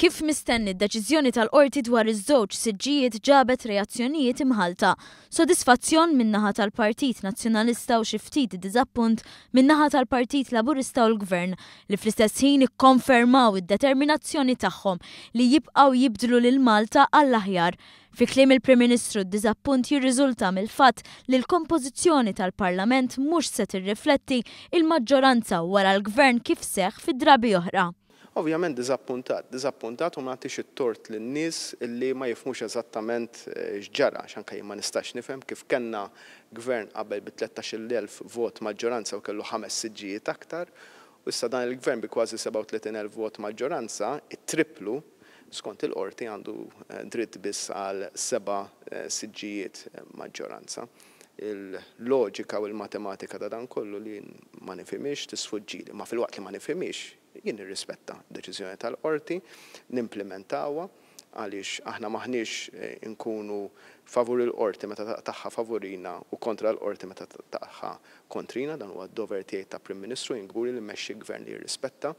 Kif mistenni, d-deċiżjoni tal-Qorti dwar iż-żewġ siġġijiet ġabet reazzjonijiet imħallta. Sodisfazzjon min-naħa tal-Partit Nazzjonalista u xi ftit diżappunt min-naħa tal-Partit Laburista u l-Gvern, li fl-istess ħin ikkonfermaw id-determinazzjoni tagħhom li jibqgħu jibdlu lil Malta għall-aħjar. Fi kliem il-Prim Ministru d-diżappunt jirriżulta mill-fatt li l-kompożizzjoni tal-Parlament mhux se tirrifletti l-maġġoranza wara l-Gvern kif seħħ fi drabi oħra. Ovvjament diżappuntat, diżappuntat u ma nagħtix it-tort lin-nies li ma jifhmux eżattament x'ġara għax anke jien ma nistax nifhem kif kellna gvern qabel bi 13,000 vot maġġoranza u kellu ħames siġġijiet aktar u issa dan il-gvern bi kważi 37,000 vot maġġoranza, it-tripplu, skont il-qorti għandu dritt biss għal seba' siġġijiet maġġoranza. Il-loġika u l-matematika ta' dan kollu li jien ma nifhimhiex tisfuġġili, imma filwaqt li ma nifhimhiex, Jien nirrispetta d-deċiżjoni tal-Qorti, nimplimentawha għaliex aħna m'aħniex inkunu favur il-Qorti meta taqtagħha favurina u kontra l-Qorti meta taqtagħha kontrina. Dan huwa d-dover tiegħi ta' Prim Ministru, jien kburi li mmexxi Gvern li jirrispetta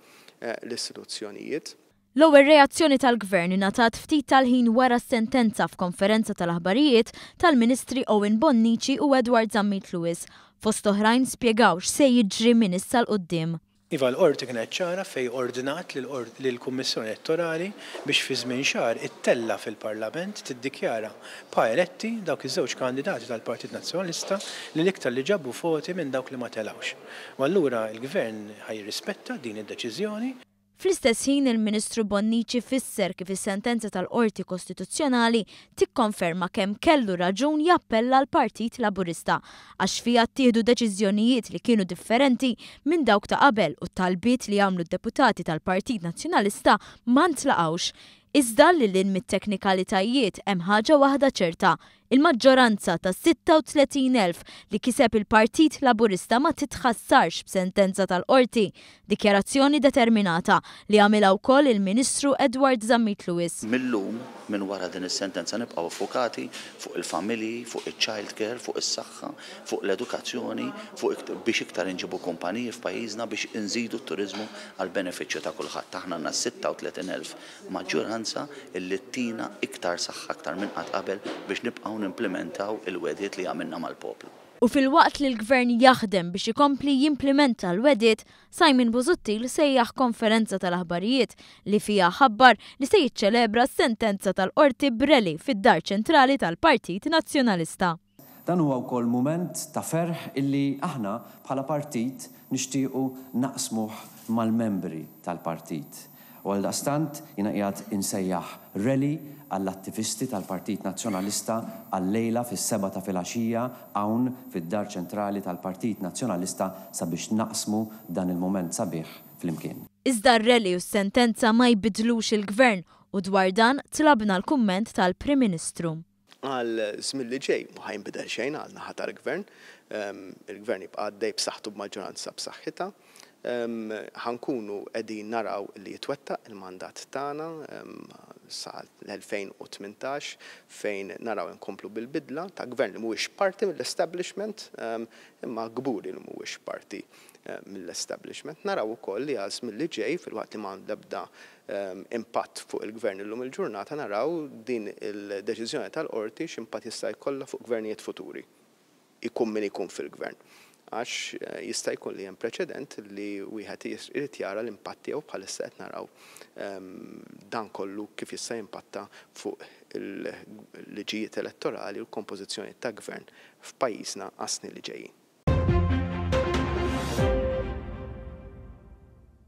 l-istituzzjonijiet. L-ewwel reazzjoni tal-Gvern ingħatat ftit tal-ħin wara s-sentenza f'konferenza tal-aħbarijiet tal-Ministri Owen Bonnici u Edward Zammit Lewis. Fost oħrajn spjegaw x'se jiġri minn issa 'l quddiem. Iva, l-Qorti kienet ċara fejn ordnat lill-Kummissjoni Elettorali biex fi żmien xahar ittella' fil-Parlament tiddikjara pa eletti dawk iż-żewġ kandidati tal-Partit Nazzjonalista li l-iktar li ġabu voti minn dawk li ma telgħux. U allura l-Gvern ħa jirrispetta din id-deċiżjoni. Fl-istess ħin il-Ministru Bonnici fisser kif is-sentenza tal-Qorti Kostituzzjonali tikkonferma kemm kellu raġun jappella l-Partit Laburista għax fiha ttieħdu deċiżjonijiet li kienu differenti minn dawk ta' qabel u t-talbiet li għamlu d-deputati tal-Partit Nazzjonalista ma ntlaqgħux. Iżda lil hinn mit-teknikalitajiet hemm ħaġa waħda ċerta, il-maġġoranza ta' 36,000 li kiseb il-Partit Laburista ma titħassarx b'sentenza tal-Qorti, dikjarazzjoni determinata li għamilha wkoll il-Ministru Edward Zammit Lewis. Mil-lum, minn wara din is-sentenza nibqgħu ffukati fuq il-familji, fuq iċ-child care, fuq is-saħħa, fuq l-edukazzjoni, fuq biex iktar inġibu kumpaniji f'pajjiżna biex inżidu t-turiżmu għall-benefiċċju ta' kulħadd. Aħna għandna 36,000 maġġoranza illi ttina iktar saħħa aktar minn qatt qabel biex nibqgħu nimplimentaw il-wegħdiet li għamilna mal-poplu. U filwaqt li l-Gvern jaħdem biex ikompli jimplimenta l-wegħdiet, Simon Busuttil sejjaħ konferenza tal-aħbarijiet li fiha ħabbar li se jiċċelebra s-sentenza tal-Qorti b'rally fid-Dar Ċentrali tal-Partit Nazzjonalista. Dan huwa wkoll mument ta' ferħ illi aħna bħala partit nixtiequ naqsmuh mal-membri tal-partit. U għaldaqstant jiena qiegħed insejjaħ rally għall-attivisti tal-Partit Nazzjonalista għal-lejla fis-sebgħa ta' filgħaxija hawn fid-Dar Ċentrali tal-Partit Nazzjonalista sabiex naqsmu dan il-mument sabiħ flimkien. Iżda r-rally u s-sentenza ma jbiddlux il-Gvern u dwar dan tlabna l-kumment tal-Prim Ministru. Għal żmien li ġej ma ħa jinbidel xejn għal naħa tal-Gvern. Il-Gvern jibqa' għaddej b'saħħtu b'maġġoranza b'saħħitha. Ħa nkunu qegħdin naraw li jitwettaq il-mandat tagħna sa l-2018 fejn naraw inkomplu bil-bidla ta' Gvern li mhuwiex parti mill-establishment imma kburi li mhuwiex parti mill-establishment. Naraw ukoll li għal żmien li ġej filwaqt li ma għandu l-ebda impatt fuq il-Gvern illum il-ġurnata naraw din il-deċiżjoni tal-Qorti x'impatt jista' jkollha fuq gvernijiet futuri, ikun min ikun fil-Gvern. Għax jista' jkun li hemm preċedent li wieħed irid jara l-impatt tiegħu bħalissa qed naraw dan kollu kif jista' jimpatta fuq il-liġijiet elettorali u l-kompożizzjoni ta' Gvern f'pajjiżna għas-snin li ġejjin.